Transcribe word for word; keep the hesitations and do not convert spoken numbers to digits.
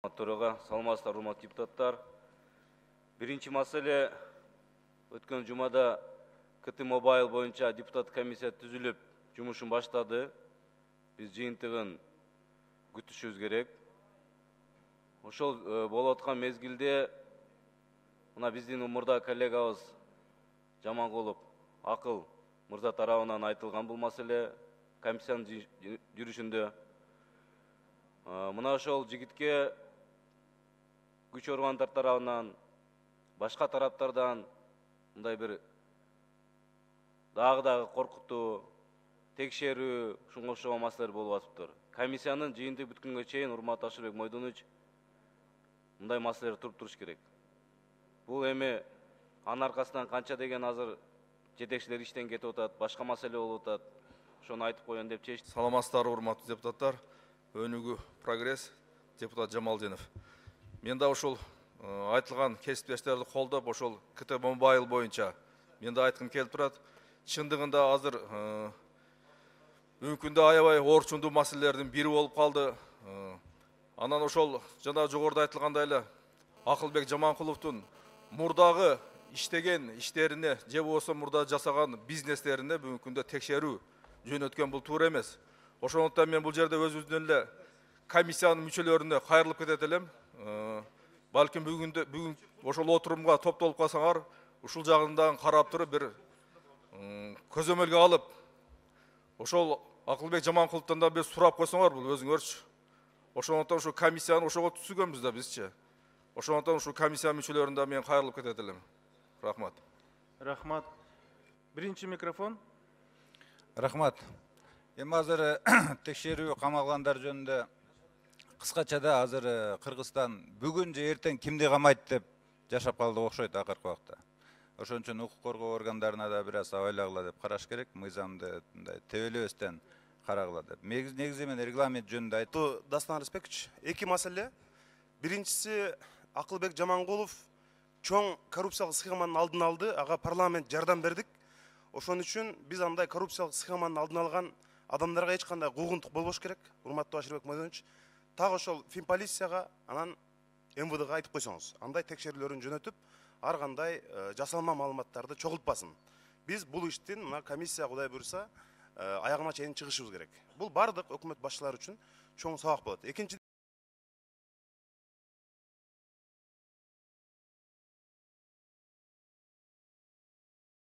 Төрага саламатсыздар, урматтуу депутаттар. Биринчи маселе, өткөн жумада КТ Мобайл боюнча депутат комиссия түзүлүп, жумушун баштады. Биз жыйынтыгын күтүшүбүз керек. Ошол болуп аткан мезгилде мына биздин мурда коллегабыз Жаманкулов Акыл мырза тарабынан айтылган бул маселе комиссиянын жүрүшүндө. Мына ошол жигитке күч органдар тарабынан, башка тараптардан мындай бир дагы дагы коркутуу, текшерүү, ушунга окшогон маселелер болуп атыптыр. Комиссиянын жыйынтыгы бүткөнгө чейин, урматтуу Ашырбек Мойдонович, мындай маселелер туруп туруш керек. Бул эми анын аркасынан канча деген азыр жетекчилер иштен кетип атат, башка маселе болуп атат. Ошону айтып коеюн деп чечтик. Саламатсыздар, урматтуу депутаттар. Өнүгүү прогресс, депутат Жамалдинов. Мен да ошол айтылган кесиптештерди колдоп, ошол КТ Мобайл боюнча мен да айткым келип турат. Чындыгында азыр мүмкүн да аябай орчундуу маселелердин бири болуп калды. Анан ошол жана жогоруда айтылгандай эле Акылбек Жаманкуловдун мурдагы иштеген иштерине же болбосо мурда жасаган бизнестерине бүгүнкү күндө текшерүү жөнөткөн бул туура эмес. Ошондуктан мен бул жерде өзүбүздүн эле комиссиянын мүчөлөрүнө кайрылып кетет элем. Балким бүгүндө бүгүн ошол отурумга топтолуп калсаңар, ушул жагынан карап туруп бир көзөмөлгө алып, ошол Акылбек Жаманкуловдон да бир сурап койсоңор бул өзүңөрчү. Ошондуктан ушул комиссияны ошого түзгөнбүз да бизчи. Ошондуктан ушул комиссия мүчөлөрүнө да мен кайрылып кетет элем. Рахмат. Рахмат. Биринчи микрофон. Рахмат. Эми азыр текшерүү камалгандар жөнүндө кыскачада азыр Кыргызстан бүгүн же эртең кимди камайт деп жашап калды окшойт акыркы убакта. Ошон үчүн укук коргоо органдарына да бир аз ойлагыла деп караш керек, мыйзамды мындай тебелебестен карагыла деп. Негизи мен регламент жөнүндө айтты. Дастан Респектович, эки маселе. Биринчиси, Акылбек Жаманкулов чоң коррупциялык схеманын алдын алды, ага парламент жардам бердик. Ошон үчүн биз андай коррупциялык схеманын алдын алган адамдарга эч кандай куугунтук болбош керек. Урматтуу Ашырбек Мойдонович, так ошол Финполицияга, анан эм вэ дэга айтып койсоңуз, андай текшерүүлөрүн жөнөтүп, ар кандай жасалма маалыматтарды чогултпасын. Биз бул иштин мына комиссия Кудай буйруса аягына чейин чыгышыбыз керек. Бул бардык өкмөт башчылары үчүн чоң сабак болот. Экинчи